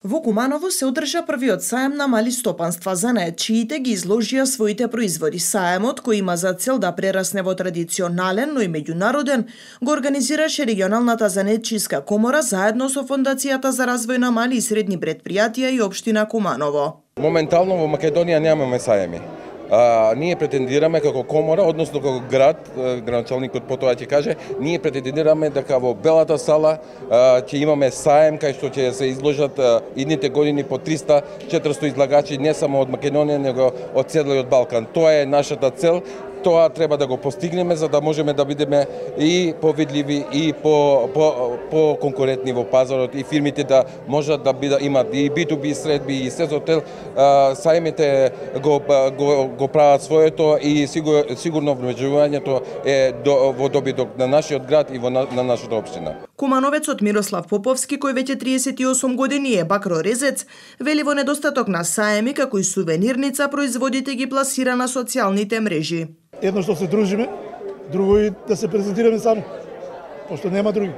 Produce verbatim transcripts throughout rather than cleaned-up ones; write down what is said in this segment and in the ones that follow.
Во Куманово се одржа првиот саем на мали стопанства. Занаетчиите ги изложија своите производи. Саемот, кој има за цел да прерасне во традиционален, но и меѓународен, го организираше регионалната занаетчиска комора заедно со Фондацијата за развој на мали и средни предпријатија и општина Куманово. Моментално во Македонија немаме саеми. А, ние претендираме како комора, односно како град, градоначалникот потоа ќе каже, ние претендираме дека во Белата сала а, ќе имаме саем кај што ќе се изложат а, идните години по триста до четиристо излагачи не само од Македонија, него од целиот Балкан. Тоа е нашата цел. Тоа треба да го постигнеме за да можеме да бидеме и повидливи и по по по конкурентни во пазарот и фирмите да можат да бидат имат и би ту би средби и се хотел. Сајмите го го го прават своето и сигур, сигурно вмежувањето е до, во добиток на нашиот град и во на, на нашата општина. Кумановецот Мирослав Поповски, кој веќе триесет и осум години е бакрорезец, вели во недостаток на саеми како и сувенирница производите ги пласира на социјалните мрежи. Едно што се дружиме, друго и да се презентираме само, пошто нема други.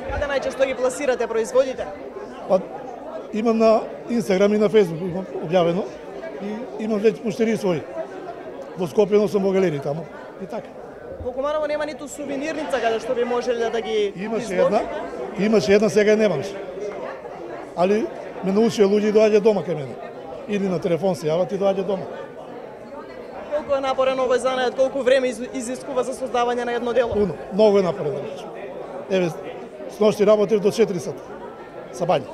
Каде најчесто ги пласирате производите? Па, имам на Инстаграм и на Фейсбук имам објавено и имам веќе пуштери своји. Во Скопје носам во галерии таму и така. Во Куманово нема ниту сувенирница каде што би можеле да ги Имаше една, имаше една, сега немаш. Али ме научија луѓе и доаѓа дома кај мене. Или на телефон се јават и доаѓа дома. Колку е напорен овој занает, колку време изискува за создавање на едно дело? Уно, многу е напорен. Еве, сношти работев до четири сата. Сабања.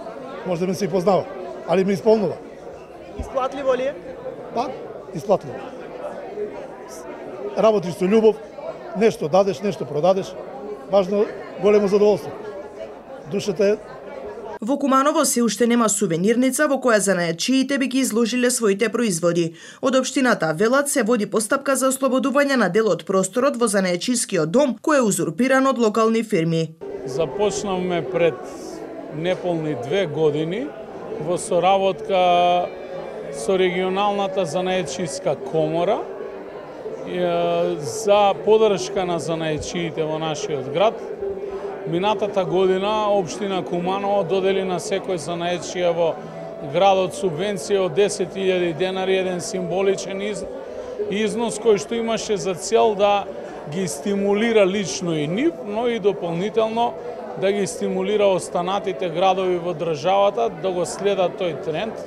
Може да ме се и познава, али ме исполнува. Исплатливо ли е? Па, исплатливо. Работиш со љубов, нешто дадеш, нешто продадеш, важно големо задоволство. Душата е. Во Куманово се уште нема сувенирница во која занаетчиите би ги изложиле своите производи. Од општината велат се води постапка за ослободување на дел од просторот во занаетчискиот дом, кој е узурпиран од локални фирми. Започнавме пред неполни две години во соработка со регионалната занаетчиска комора за поддршка на занаетчиите во нашиот град. Минатата година општина Куманово додели на секој занаетчија во градот субвенција од десет илјади денари, еден символичен износ кој што имаше за цел да ги стимулира лично и нив, но и дополнително да ги стимулира останатите градови во државата да го следат тој тренд.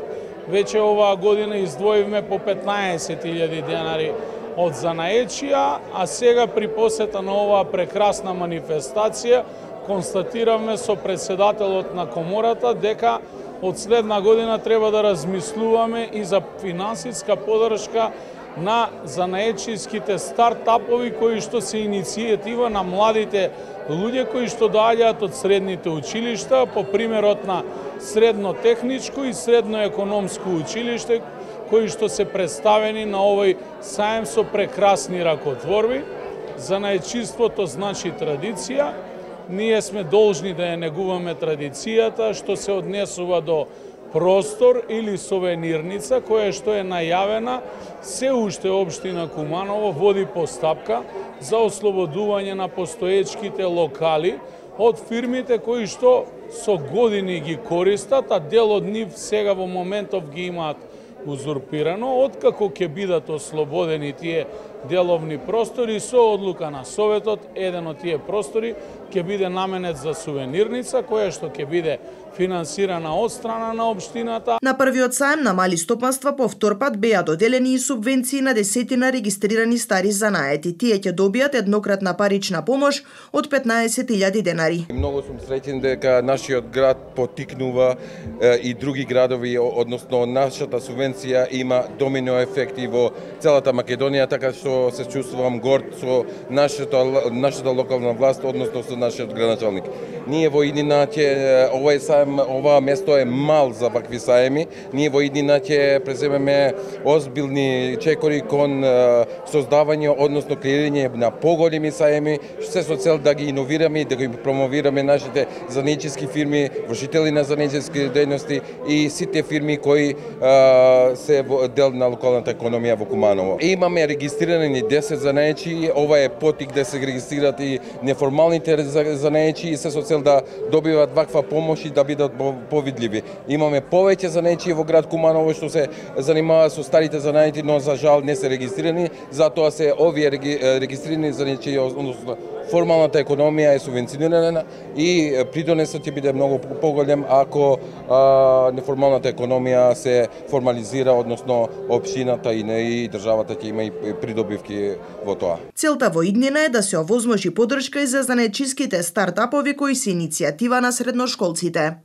Веќе оваа година издвоивме по петнаесет илјади денари од занаетчија, а сега при посета на оваа прекрасна манифестација констатиравме со председателот на комората дека од следна година треба да размислуваме и за финансиска поддршка на занаетчиските стартапови кои што се иницијатива на младите луѓе кои што доаѓаат од средните училишта, по примерот на средно техничко и средно економско училиште, кои што се представени на овој саем со прекрасни ракотворби. Занаетчиството значи традиција. Ние сме должни да ја негуваме традицијата што се однесува до простор или сувенирница која што е најавена. Се уште општина Куманово води постапка за ослободување на постоечките локали од фирмите кои што со години ги користат, а дел од нив сега во моментов ги имаат узурпирано. Откако ќе бидат ослободени тие деловни простори, со одлука на Советот, еден од тие простори ќе биде наменет за сувенирница, која што ќе биде финансирана од страна на општината. На првиот саем на мали стопанства по втор пат беа доделени и субвенции на десетина регистрирани стари занаети. Тие ќе добијат еднократна парична помош од петнаесет илјади денари. Многу сум среќен дека нашиот град потикнува е, и други градови, односно нашата субвенција има домино ефекти во целата Македонија, така што се чувствувам горд со нашата нашата локална власт, односно со нашиот градоначалник. Ние во иднина ќе овој саем, ова место е мал за вакви саеми. Ние во иднина ќе преземеме озбилни чекори кон е, создавање, односно креирање на поголеми саеми, се со цел да ги иновираме и да ги промовираме нашите занаетчиски фирми, вршители на занаетчиски дејности и сите фирми кои е, се дел на локалната економија во Куманово. Имаме регистрирани десет занаетчи, ова е потик да се регистрират и неформалните занаетчи и се со цел цел да добиваат ваква помош и да бидат повидливи. Имаме повеќе занајчии во град Куманово што се занимаваат со старите занајки, но за жал не се регистрирани, затоа се овие регистрирани занајчии, односно формалната економија е субвенционирана и придонесот ќе биде многу поголем ако а, неформалната економија се формализира, односно општината и не и државата ќе има и придобивки во тоа. Целта во иднина е да се овозможи поддршка и за занајчиските стартапови кои се иницијатива на средношколците.